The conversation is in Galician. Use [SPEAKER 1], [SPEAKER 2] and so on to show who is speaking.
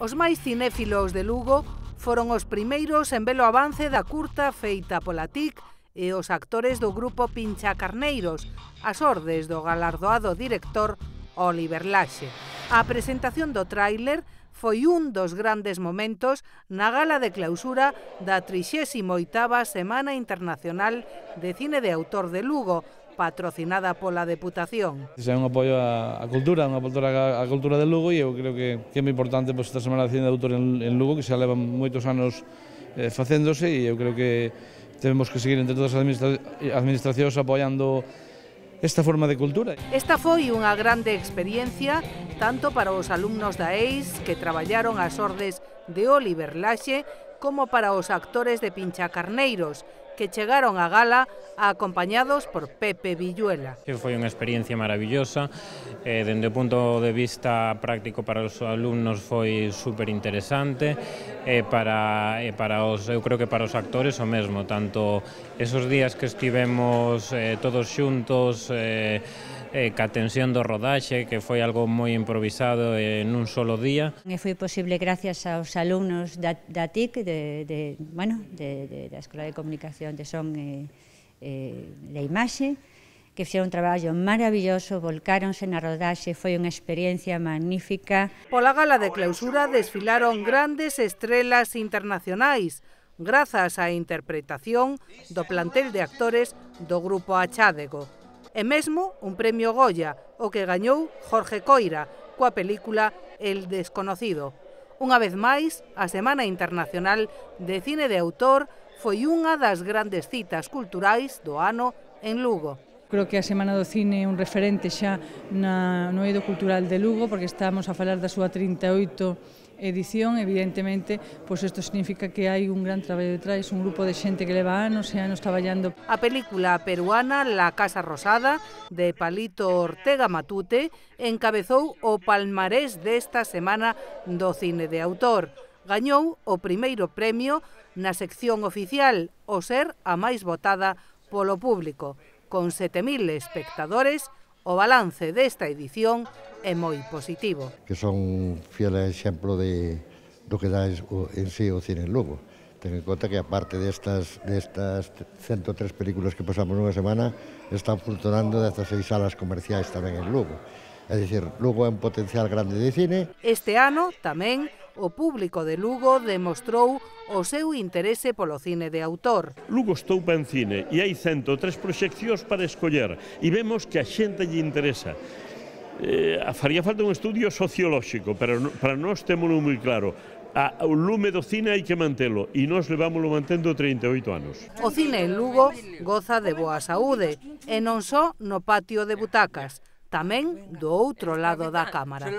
[SPEAKER 1] Os máis cinéfilos de Lugo foron os primeiros en ver o avance da curta feita pola TIC e os actores do grupo Pinchacarneiros, ás ordes do galardoado director Óliver Laxe. A presentación do tráiler foi un dos grandes momentos na gala de clausura da 38ª Semana Internacional de Cine de Autor de Lugo, patrocinada pola Deputación.
[SPEAKER 2] É un apoio á cultura, a cultura de Lugo, e eu creo que é moi importante esta Semana de Cine de Autor en Lugo, que xa levan moitos anos facéndose, e eu creo que temos que seguir entre todas as administracións apoiando esta forma de cultura.
[SPEAKER 1] Esta foi unha grande experiencia tanto para os alumnos da EIS que traballaron ás ordes de Óliver Laxe como para os actores de Pinchacarneiros que chegaron á gala acompañados por Pepe Villuela.
[SPEAKER 3] Foi unha experiencia maravillosa, dende o punto de vista práctico para os alumnos foi super interesante, eu creo que para os actores o mesmo, tanto esos días que estivemos todos xuntos, ca tensión do rodaxe, que foi algo moi improvisado nun solo día.
[SPEAKER 4] Foi posible gracias aos alumnos da TIC, da Escola de Comunicación de Son e de Imaxe, que fixeron un traballo maravilloso, volcáronse na rodaxe, foi unha experiencia magnífica.
[SPEAKER 1] Pola gala de clausura desfilaron grandes estrelas internacionais, grazas á interpretación do plantel de actores do grupo Achádego. E mesmo un premio Goya, o que gañou Jorge Coira, coa película El desconocido. Unha vez máis, a Semana Internacional de Cine de Autor foi unha das grandes citas culturais do ano en Lugo.
[SPEAKER 5] Creo que a Semana do Cine é un referente xa no eido cultural de Lugo, porque estamos a falar da súa 38 edición. Evidentemente, pois isto significa que hai un gran traballo detrás, un grupo de xente que leva anos e anos traballando.
[SPEAKER 1] A película peruana La Casa Rosada, de Palito Ortega Matute, encabezou o palmarés desta Semana do Cine de Autor. Gañou o primeiro premio na sección oficial, o ser a máis votada polo público. Con 7.000 espectadores, o balance desta edición é moi positivo.
[SPEAKER 6] Que son fiel exemplo do que dá en sí o cine en Lugo. Ten en conta que aparte destas 103 películas que pasamos nunha semana, están funcionando 16 salas comerciais tamén en Lugo. É dicir, Lugo é un potencial grande de cine.
[SPEAKER 1] Este ano tamén o público de Lugo demostrou o seu interese polo cine de autor.
[SPEAKER 7] Lugo estoupa en cine e hai 103 proxeccións para escoller e vemos que a xente lle interesa. Faría falta un estudio sociolóxico, pero para nós témolo moi claro. O lume do cine hai que mantelo e nós levámoslo mantendo 38 anos.
[SPEAKER 1] O cine en Lugo goza de boa saúde e non só no patio de butacas, tamén do outro lado da cámara.